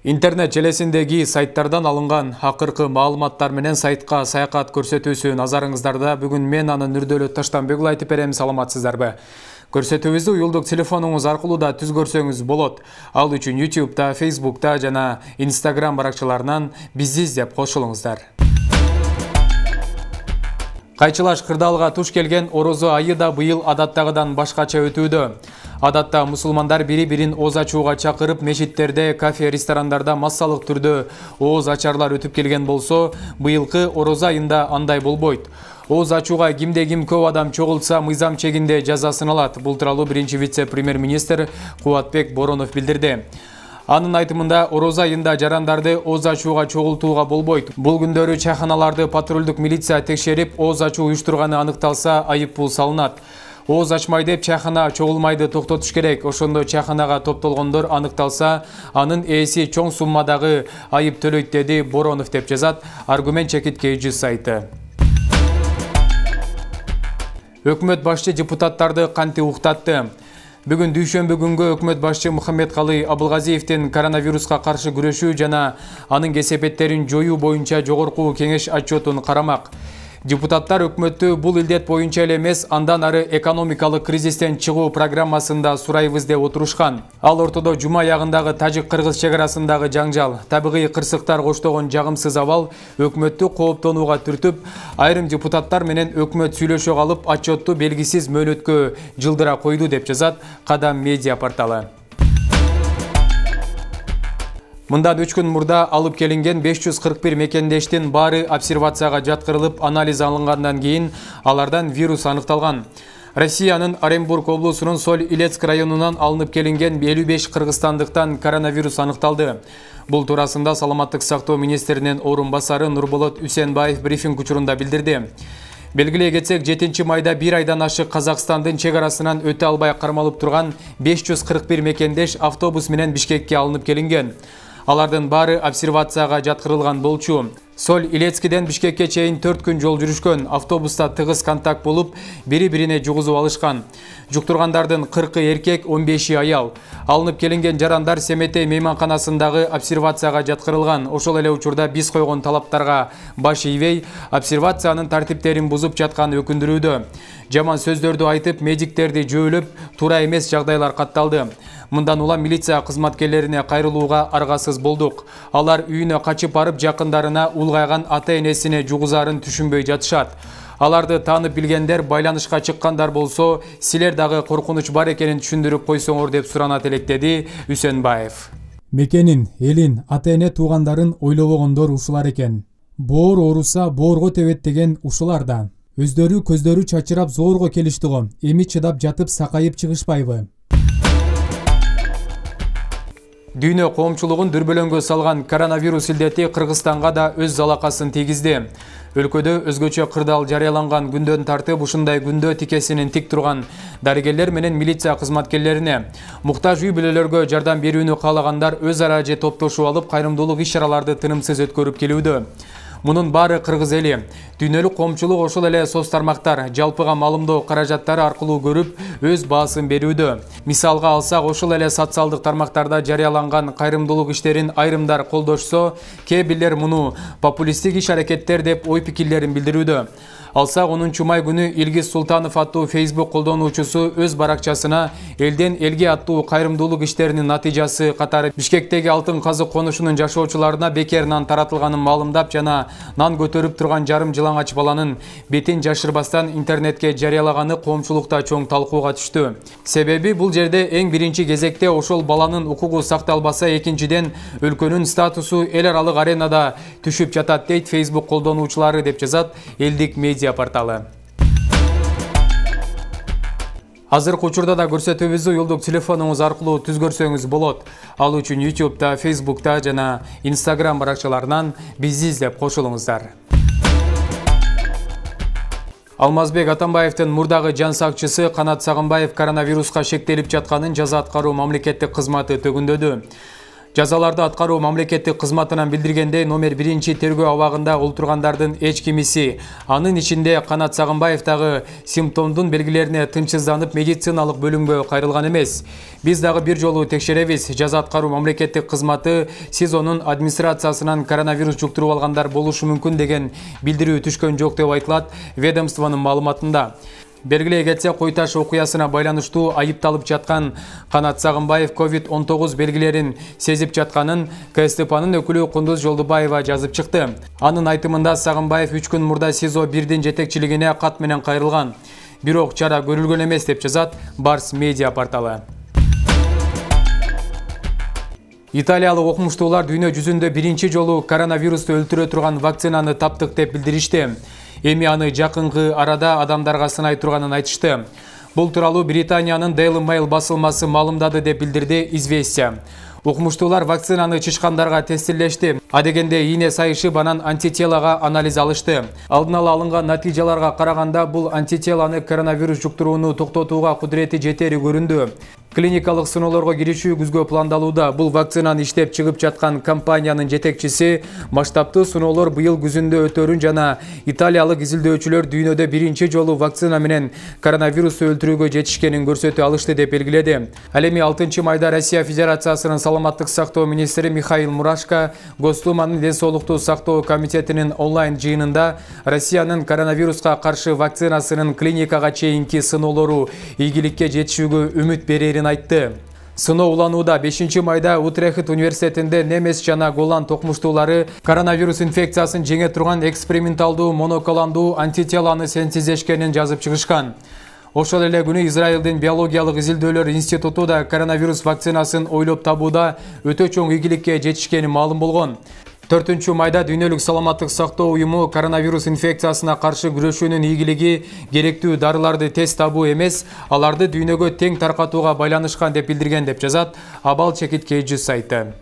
Интернет желесиндеги сайттардан алынган акыркы маалыматтар менен сайтка саякат көрсөтүүсү назарыңыздарда. Бүгүн мен аны Нурдөлөт Таштанбекұлы айтып берем. Саламатсыздарбы? Көрсөтүүбүздү уюлдук телефонуңуз аркылуу да түз көрсөңүз болот. Ал үчүн YouTube'да, Facebook'та жана Instagram баракчаларынан бизди издеп кошулуңуздар. Кайчылаш кырдаалга туш келген орозо айы да быйыл адаттагыдан башкача өтүүдө. Адатта мусулмандар бири-бирин ооз ачууга чакырып, мечиттерде, кафе, ресторандарда массалык түрдө ооз ачарлар өтүп келген болсо, быйылкы орозо айында андай болбойт. Ооз ачууга кимде-ким көп адам чогултса, мыйзам чегинде жазасын алат. Бул тууралуу биринчи вице-премьер-министр Кубатбек Боронов билдирди. Анын айтымында, орозо айында жарандарды ооз ачууга чогултууга болбойт. Бул күндөрү чайханаларды патрулдук милиция текшерип, ооз ачуу уюштурганы аныкталса, айыппул салынат. Ооз ачмай деп чайхана чогулмайды токтотуш керек. Ошондо чайханага топтолгондор аныкталса, анын ээси чоң суммадагы айып төлөйт, деди Боронов деп жазат Аргумент чекиткей сайты. Өкмөт башчы депутаттарды канты уктатты. Бүгүн дүйшөмбү күнгө өкмөт башчы Мухаммедкалый Абылгазиевдин коронавируска каршы күрөшүү жана анын кесепеттерин жоюу боюнча жогорку кеңеш отчетун карамак. Депутаттар өкмөттү бул илдет боюнча эле эмес, андан ары экономикалык кризистен чыгуу программасында сурайбыз деп отурушкан. Ал ортодо жума аягындагы Тажик-Кыргыз чек арасындагы жаңжал, табигый кырсыктар коштогон жагымсыз абал өкмөттү кооптонууга түртүп, айрым депутаттар менен өкмөт сүйлөшө калып, отчетту белгисиз мөөнөткө жылдыра койду деп жазат Кадам медиа порталы. Мындан 3 күн мурда алып келинген 541 мекендештин баары обсервацияга жаткырылып, анализ алынгандан кийин алардан вирус аныкталган. Россиянын Оренбург облусунун Соль-Илецк районунан алынып келинген 55 кыргызстандыктан коронавирус аныкталды. Бул туурасында Саламаттык сактоо министринин орун басары Нурболот Үсенбаев брифинг учурунда билдирди. Белгилей кетсек, 7 майда бир айдан ашык Казакстандын чек арасынан өтө албай кармалып турган 541 мекендеш автобус менен Бишкекке алынып келинген. Алардын баары обсервацияга жаткырылган болчу. Соль-Илецкиден Бишкекке чейин 4 күн жол жүрүшкөн. Автобуста тыгыз контакт болуп, бири-бирине жугузуп алышкан. Жуктургандардын 40 эркек, 15 аял. Алынып келинген жарандар Семетей мейманканасындагы обсервацияга жаткырылган. Ошол эле учурда биз койгон талаптарга баш ийбей, обсервациянын тартиптерин бузуп жатканы өкүндүрүүдө. Жаман сөздөрдү айтып, медиктерди жөөлөп, туура эмес жагдайлар катталды. Мындан улам милиция кызматкерлерине кайрылууга аргасыз болдук. Алар үйүнө качып барып, жакындарына улгайган ата-энесине жугузарын түшүнбөй жатышат. Аларды таанып билгендер, байланышка чыккандар болсо, силер дагы коркунуч бар экенин түшүндүрүп койсоңор деп суранат элек, деди Үсенбаев. Мекенин, элин, ата-эне туугандарын ойлобогондор ушулар экен. Боор ооруса боорго тебет деген ушулар да. Өздөрү көздөрү чачырап зорго келишти го. Эми чыдап жатып сакайып чыгышпайбы? Дүйнө коомчулугун дүрбөлөңгө салган коронавирус илдети Кыргызстанга да өз залакасын тийгизди. Өлкөдө өзгөчө кырдаал жарыяланган күндөн тартып, ушундай күндө тикесинин тик турган дарыгерлер менен милиция кызматкерлерине, муктаж үй бүлөлөргө жардам берүүнү каалагандар өз ара же топтошуп алып, кайрымдуулук иш-чараларды тынымсыз өткөрүп келүүдө. Мунун баары кыргыз эли. Дүйнөлүк коомчулук ошол эле соц тармактар, жалпыга маалымдоо каражаттары аркылуу көрүп, өз баасын берүүдө. Мисалга алсак, ошол эле социалдык тармактарда жарыяланган кайрымдуулук иштерин айрымдар колдошсо, кээ бирлер муну популисттик иш-аракеттер деп ой-пикирлерин билдирүүдө. Алсак 10 май күнү Илгиз Султанов аттуу Facebook колдонуучусу өз баракчасына элден элге аттуу кайрымдуулук иштеринин натыйжасы катары Бишкектеги алтын казык конушунун жашоочуларына бекер нан таратылганын маалымдап жана нан көтөрүп турган жарым жылаңач баланын бетин жашырбастан интернетке жарыялаганы коомчулукта чоң талкууга түштү. Себеби бул жерде эң биринчи кезекте ошол баланын укугу сакталбаса, экинчиден өлкөнүн статусу эл аралык аренада түшүп жатат, дейт Facebook колдонуучулары деп жазат Элдик медиа порталы. Азыркы учурда да көрсөтүүбүздү уюлдук телефонуңуз аркылуу түз көрсөңүз болот. Ал үчүн YouTube'да, Facebook'та жана Instagram баракчаларынан бизди издеп кошулуңуздар. Алмазбек Атамбаевдин мурдагы жан сакчысы Канат Сагынбаев коронавируска шектелип жатканын жаза аткаруу мамлекеттик кызматы төгүндөдү. Жазаларды аткаруу мамлекеттик кызматынан билдиргендей, номер 1 тергөө абагында олтургандардын эч кимиси, анын ичинде Канат Сагынбаев дагы симптомдун белгилерине тынчсызданып медициналык бөлүмгө кайрылган эмес. Биз дагы бир жолу текшеребиз. Жаза аткаруу мамлекеттик кызматы СИЗОнун администрациясынан коронавирус жуктуруп алгандар болушу мүмкүн деген билдирүү түшкөн жок деп айтылат ведомствонун маалыматында. Белгилей кетсе, Кой Таш окуясына байланыштуу айыпталып жаткан Канат Сагынбаев COVID-19 белгилерин сезип жатканын КСТПнын өкүлү Кундуз Жолдубаева жазып чыкты. Анын айтымында Сагынбаев 3 күн мурда СИЗО 1дин жетекчилигине кат менен кайрылган. Бирок чара көрүлгөн эмес деп жазат Барс медиа порталы. Италиялык окумуштуулар дүйнө жүзүндө биринчи жолу коронавирусту өлтүрө турган вакцинаны таптык деп билдиришти. Эми аны жакынкы арада адамдарга сынай турганын айтышты. Бул тууралуу Британиянын Daily Mail басылмасы маалымдады деп билдирди Известия. Окумуштуулар вакцинаны чычкандарга тестирлешти. Адегенде ийне сайышып, анан антителага анализ алышты. Алдын ала алынган натыйжаларга караганда бул антителаны коронавирус жуктурууну токтотууга кудурети жетери көрүндү. Клиникалык сыноолорго киришүү күзгө пландалууда. Бул вакцинаны иштеп чыгып жаткан компаниянын жетекчиси масштабтуу сыноолор быйыл күзүндө өтөрүн жана италиялык изилдөөчүлөр дүйнөдө биринчи жолу вакцина менен коронавирусту өлтүрүүгө жетишкенин көрсөтө алышты деп белгиледи. Ал эми 6 майда Россия Федерациясынын саламаттык сактоо министри Михаил Мурашко Госдуманын ден соолукту сактоо комитетинин онлайн жыйынында Россиянын коронавируска каршы вакцинасынын клиникага чейинки сыноолору ийгиликке жетишүүгө үмүт берерин айтты. Сыноо уланууда 5 майда Утрехт университетинде немес жана голланд окумуштуулары коронавирус инфекциясын жеңе турган эксперименталдуу моноклондуу антителаны синтездешкенин жазып чыгышкан. Ошол эле күнү Израилдин биологиялык изилдөөлөр институту да коронавирус вакцинасын ойлоп табууда өтө чоң ийгиликке жетишкени маалым болгон. 4 майда Дүйнөлүк саламаттык сактоо уюму коронавирус инфекциясына каршы күрөшүүнүн ийгилиги керектүү дарыларды тез табуу эмес, аларды дүйнөгө тең таркатууга байланышкан деп билдирген деп жазат Абал Чекиткейжи сайты.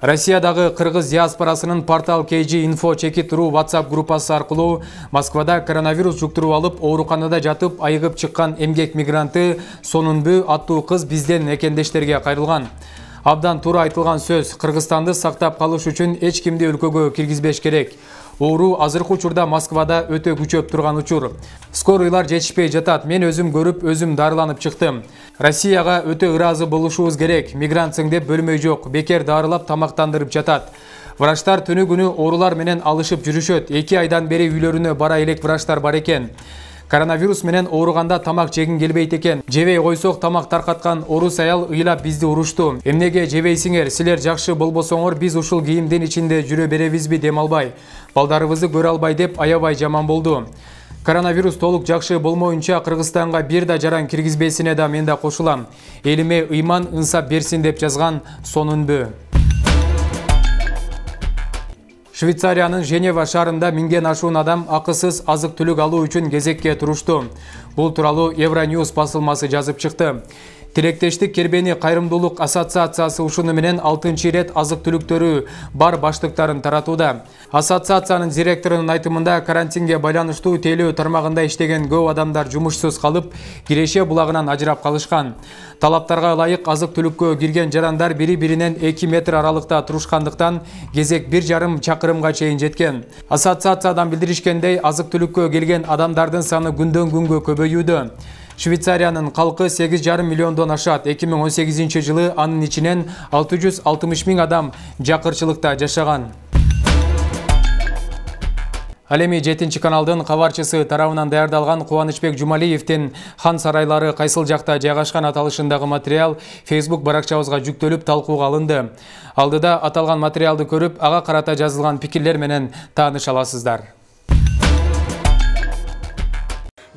Россиядагы кыргыз диаспорасынын портал KG-Info Чекит.ру WhatsApp группасы аркылуу Москвада коронавирус жуктуруп алып, ооруканада жатып айыгып чыккан эмгек мигранты Сонунбү аттуу кыз бизден экендештерге кайрылган. Абдан туура айтылган сөз. Кыргызстанды сактап калыш үчүн эч кимди өлкөгө киргизбеш керек. Оору азыркы учурда Москвада өтө күчөп турган учур. Скорыйлар жетишпей жатат. Мен өзүм көрүп, өзүм дарыланып чыктым. Россияга өтө ыраазы болушубуз керек. Мигрантсың деп бөлмөй жок. Бекер дарылап тамактандырып жатат. Врачтар түнү күнү оорулар менен алышып жүрүшөт. 2 айдан бери үйлөрүнө бара элек врачтар бар экен. Коронавирус менен ооруганда тамак жегин келбейт экен. Жебей койсок тамак таркаткан орус аял ыйлап бизди урушту. Эмнеге жебейсиңер? Силер жакшы болбосоңор биз ушул кийимдин ичинде жүрө беребизби дем албай? Балдарыбызды көрө албай деп аябай жаман болду. Коронавирус толук жакшы болмоюнча Кыргызстанга бир да жаран киргизбесине да мен да кошулам. Элиме ыйман ынсап берсин деп жазган Сонунбү. Швейцариянын Женева шаарында 1000ден ашуун адам акысыз азык-түлүк алуу үчүн кезекке турушту. Бул тууралуу Евроньюз басылмасы жазып чыкты. Тилектештик кербени кайрымдуулук ассоциациясы ушуну менен 6-рет азык-түлүктөрү бар баштыктарын таратууда. Ассоциациянын директорунун айтымында карантинге байланыштуу тейлөө тармагында иштеген көп адамдар жумушсуз калып, Киреше булагынан ажырап калышкан. Талаптарга ылайык азык-түлүккө кирген жарандар бири-биринен 2 метр аралыкта турушкандыктан кезек 1,5 чакырымга чейин жеткен. Ассоциациядан билдиришкендей, азык-түлүккө келген адамдардын саны күндөн күнгө көбөйүүдө. Швейцариянын калкы 8,5 миллиондон ашат. 2018 жылы анын ичинен 660 миң адам жакырчылыкта жашаган. Ал эми 7-каналдын кабарчысы тарабынан даярдалган Кубанычбек Жумалиевдин хан сарайлары кайсыл жакта жайгашкан аталышындагы материал Facebook баракчабызга жүктөлүп талкууга алынды. Алдыда аталган материалды көрүп, ага карата жазылган пикирлер менен тааныша аласыздар.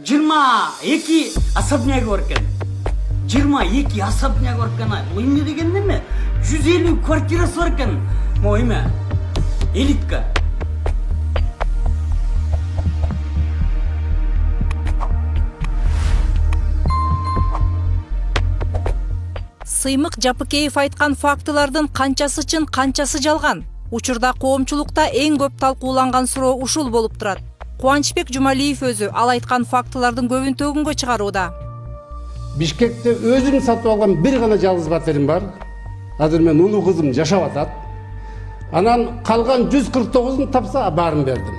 22 особняк бар экен. 22 особняк бар экен. Бул эмне деген неме? 150 квартирасы бар экен. Моиме. Элитка. Сыймык Жапыкеев айткан фактылардын канчасы чын, канчасы жалган? Учурда коомчулукта эң көп талкууланган суроо ушул болуп турат. Кубанычбек Жумалиев өзү ал айткан фактылардын көбүн төгүнгө чыгарууда. Бишкекте өзүм сатып алган бир гана жалгыз патерим бар. Азыр мен улуу кызым жашап атат. Анан калган 149-ун тапса баарын бердим.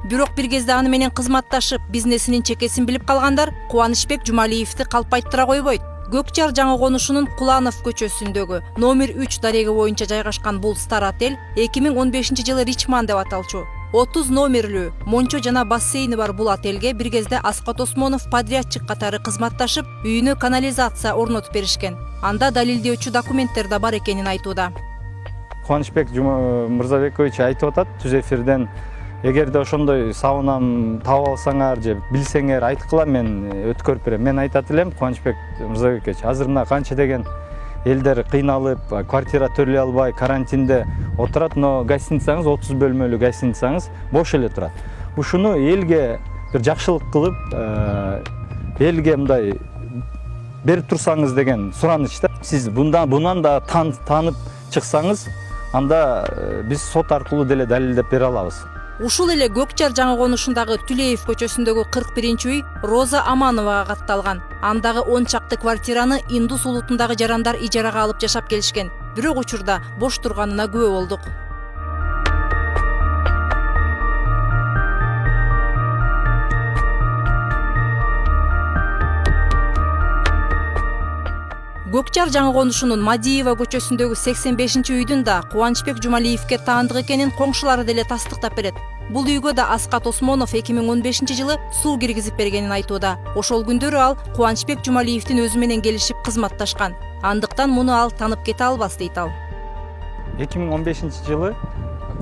Бирок бир кезде аны менен кызматташып, бизнесинин чекесин билип калгандар Кубанычбек Жумалиевди калпайттыра койбойт. Көкчар жаңы конушунун Куланов көчөсүндөгү номер 3 дареги боюнча жайгашкан бул Стар отель 2015-жылы Ричман деп аталчу. 30 номерлүү, мончо жана бассейни бар бул отельге бир кезде Аскат Осмонов подрядчик катары кызматташып, үйүнө канализация орнотуп беришкен. Анда далилдөөчү документтер да бар экенин айтууда. Кубанычбек Мырзабекович айтып атат түз эфирден, эгерде ошондой саунам таап алсаңар же билсеңер айткыла, мен өткөрүп берем. Мен айтат элем, Кубанычбек Мырзабекович, азыр мына канча деген элдер кыйналып, квартира төлөй албай, карантинде отурат, но гостиницаңыз 30 бөлмөлүү гостиницаңыз бош эле турат. Ушуну элге бир жакшылык кылып, элге мындай берип турсаңыз деген суранычта. Сиз бунан да таанып чыксаңыз, анда биз сот аркылуу деле далилдеп бере алабыз. Ушул эле Көкчар жаңы конушундагы Түлеев көчөсүндөгү 41-үй Роза Амановага катталган. Андагы 10 чакты квартираны Индус улутундагы жарандар ижарага алып жашап келишкен. Бирок учурда бош турганына күбө болдук. Көкчар жаңы конушунун Мадиева көчөсүндөгү 85-үйдүн да Кубанычбек Жумалиевге таандык экенин коңшулары деле тастыктап берет. Бул үйгө да Аскат Осмонов 2015-жылы суу киргизип бергенин айтууда. Ошол күндөрү ал Кубанычбек Жумалиевдин өзү менен келишип кызматташкан. Андыктан муну ал танып кете албас дейт ал. 2015-жылы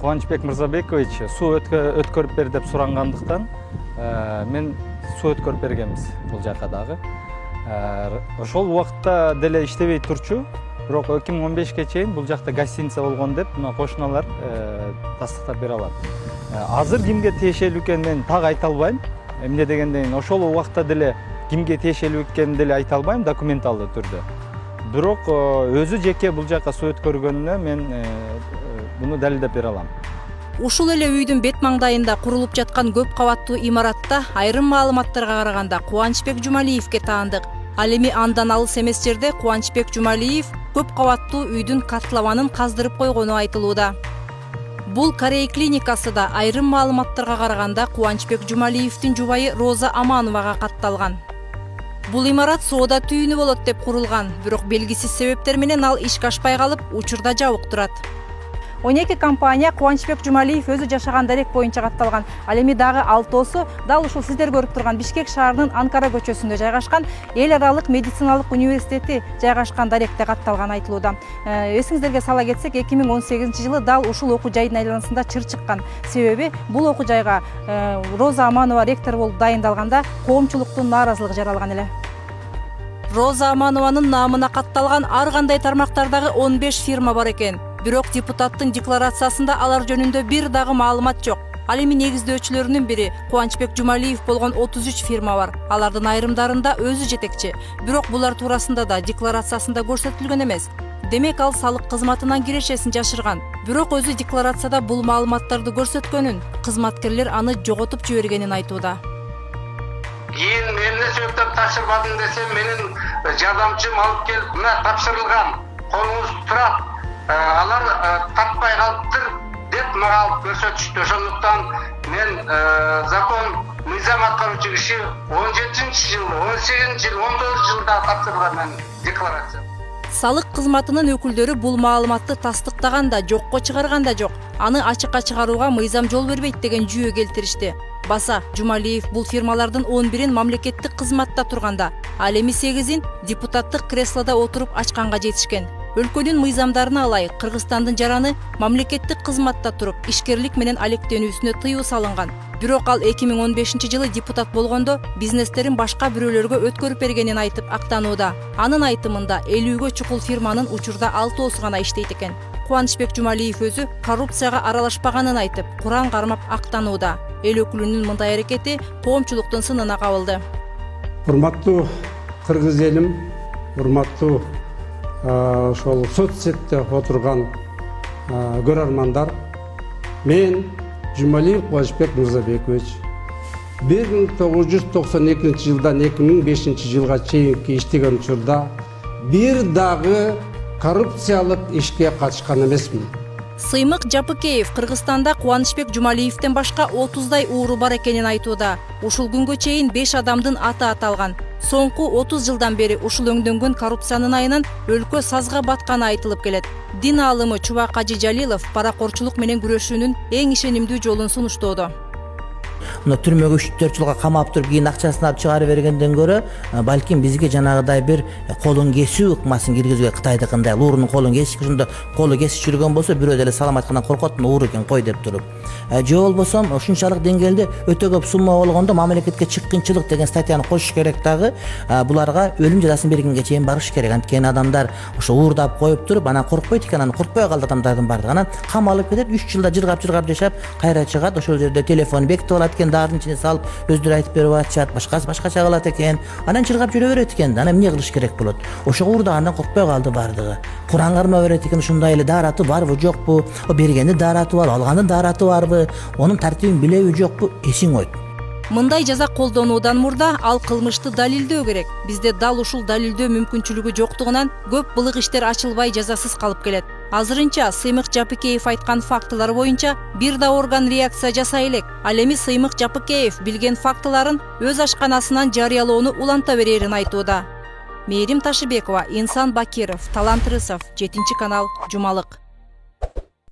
Кубанычбек Мырзабекович суу өткөрүп бер деп сурангандыктан мен суу өткөрүп бергенбиз бул жака дагы. Ошол убакытта деле иштебей турчу, бирок 2015-ке чейин бул жакта гостиница болгон деп мына кошуналар тастыктап бере алат. Азыр кимге тиешелүү экенин мен так айта албайм. Эмне дегенден ошол убакытта деле кимге тиешелүү экенин деле айта албайм документалдуу түрдө. Бирок өзү жеке бул жака суу өткөргөнүнө мен буну далилдеп бере алам. Ушул эле үйдүн бет маңдайында курулуп жаткан көп кабаттуу имаратта айрым маалыматтарга караганда Кубанычбек Жумалиевге таандык. Ал эми андан алыс эмес жерде Кубанычбек Жумалиев көп кабаттуу үйдүн катлабанын каздырып койгону айтылууда. Бул Корей клиникасы да айрым маалыматтарга караганда Кубанычбек Жумалиевдин жубайы Роза Амановага катталган. Бул имарат соода түйүнү болот деп курулган, бирок белгисиз себептер менен ал ишке ашпай калып, учурда жабык турат. 12 компания Кубанычбек Жумалиев өзү жашаган дарек боюнча катталган. Ал эми дагы 6-осу дал ушул сиздер көрүп турган Бишкек шаарынын Анкара көчөсүндө жайгашкан Эл аралык медициналык университети жайгашкан даректе катталган айтылууда. Эсиңиздерге сала кетсек, 2018-жылы дал ушул окуу жайдын айланасында чыр чыккан. Себеби бул окуу жайга Роза Аманова ректор болуп дайындалганда коомчулуктун нааразылыгы жаралган эле. Роза Аманованын наамына катталган ар кандай тармактардагы 15 фирма бар экен. Бирок депутаттын декларациясында алар жөнүндө бир дагы маалымат жок. Ал эми негиздөөчүлөрүнүн бири Кубанычбек Жумалиев болгон 33 фирма бар. Алардын айрымдарында өзү жетекчи. Бирок булар туурасында да декларациясында көрсөтүлгөн эмес. Демек ал салык кызматынан кирешесин жашырган. Бирок өзү декларацияда бул маалыматтарды көрсөткөнүн, кызматкерлер аны жоготуп жибергенин айтууда. Кийин эмне себептен тапшырбадың десем, менин жардамчым алып келип, мына тапшырылган, колуңуз турат. Алар таппай калыптыр деп мага алып көрсөтүштү. Ошондуктан мен закон мыйзам аткаруучу киши 17-жыл, 18-жыл, 19-жылда тапшырган декларация. Салык кызматынын өкүлдөрү бул маалыматты тастыктаган да, жокко чыгарган да жок. Аны ачыкка чыгарууга мыйзам жол бербейт деген жүйө келтиришти. Баса Жумалиев бул фирмалардын 11-ин мамлекеттик кызматта турганда, ал эми 8-ин депутаттык креслода отуруп ачканга жетишкен. Өлкөнүн мыйзамдарына ылайык Кыргызстандын жараны мамлекеттик кызматта туруп, ишкерлик менен алектенүүсүнө тыюу салынган. Бирок ал 2015-жылы депутат болгондо бизнестерин башка бирөөлөргө өткөрүп бергенин айтып актанууда. Анын айтымында 50-гө чукул фирманын учурда 6-осу гана иштейт экен. Кубанычбек Жумалиев өзү коррупцияга аралашпаганын айтып, Куран кармап актанууда. Эл өкүлүнүн мындай аракети коомчулуктун сынына кабылды. Урматтуу кыргыз элим, урматтуу ошол соцсетте отурган көрөрмандар, мен Жумалиев Кубанычбек Мырзабекович 1992 жылдан 2005 жылга чейинки иштеген учурда бир дагы коррупциялык ишке катышкан эмесмин. Сыймык Жапыкеев Кыргызстанда Кубанычбек Жумалиевден башка 30дай ууру бар экенин айтууда. Ушул күнгө чейин 5 адамдын аты аталган. Соңку 30 жылдан бери ушул өңдөнгөн коррупциянын айынан өлкө сазга батканы айтылып келет. Дин аалымы Чубак Ажи Жалилов паракорчулук менен күрөшүүнүн эң ишенимдүү жолун сунуштоодо. Мына түрмөгө 3-4 жылга камап туруп кийин акчасын алып чыгарып бергенден көрө, балким бизге жанагыдай бир колун кесүү ыкмасын киргизүүгө Кытайдыкындай уурунун колун кесип, ошондо колу кесип жүргөн болсо, бирөө деле салам айткандан коркот, ууру экен кой деп туруп. Же болбосо ушунчалык деңгээлде өтө көп сумма болгондо мамлекетке чыккынчылык деген статьяны кошуш керек дагы, буларга өлүм жазасын бергенге чейин барыш керек. Анткени адамдар ошо уурдап коюп туруп, анан коркпойт экен, анан коркпой калды адамдардын баардыгы. Анан камалып кетет, 3 жылда жыргап жашап, кайра чыгат, ошол жерде телефон бекитип алат экен, дардын ичине салып, өздөрү айтып берип атышат, башкача кылат экен. Анан чыргап жүрө берет экен. Анан эмне кылыш керек болот? Ошого уурдагандан коркпой калды баардыгы. Куран карма берет экен, ушундай эле даараты барбы, жокпу? Бергендин даараты бар, алгандын даараты барбы? Онун тартибин билеби, жокпу? Эсиң ойт. Мындай жаза колдонуудан мурда ал кылмышты далилдөө керек. Бизде дал ушул далилдөө мүмкүнчүлүгү жоктугунан көп былык иштер ачылбай жазасыз калып келет. Азырынча Сыймык Жапыкеев айткан фактылар боюнча бир да орган реакция жасай элек. Ал эми Сыймык Жапыкеев билген фактыларын өз ашканасынан жарыялоону уланта берерин айтууда. Мээрим Ташыбекова, Инсан Бакиров, Талант Рысов, 7-канал, Жумалык.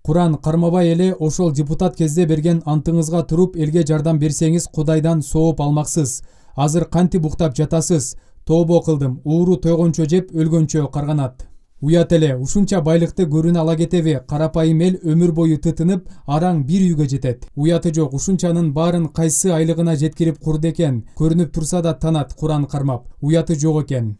Куран кармабай эле ошол депутат кезде берген антыңызга туруп элге жардам берсеңиз Кудайдан сооп алмаксыз. Азыр кантип уктап жатасыз? Тообо кылдым, ууру тойгончо жеп өлгөнчө карганат. Уят эле, ушунча байлыкты көрүнө ала кетеби? Карапайым эл өмүр бою тытынып, араң бир үйгө жетет. Уяты жок, ушунчанын баарын кайсы айлыгына жеткирип курду экен? Көрүнүп турса да танат Куран кармап. Уяты жок экен.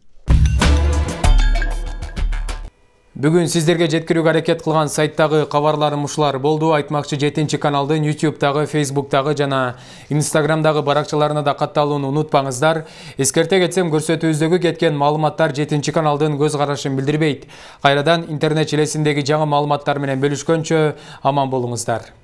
Бүгүн сиздерге жеткирүүгө аракет кылган сайттагы кабарларым ушулар болду. Айтмакчы 7-каналдын YouTube'дагы, Facebook'тагы жана Instagram'дагы баракчаларына да катталууну унутпаңыздар. Эскерте кетсем, көрсөтүүбүздөгү кеткен маалыматтар 7-каналдын көз карашын билдирбейт. Кайрадан интернет желесиндеги жаңы маалыматтар менен бөлүшкөнчө аман болуңуздар.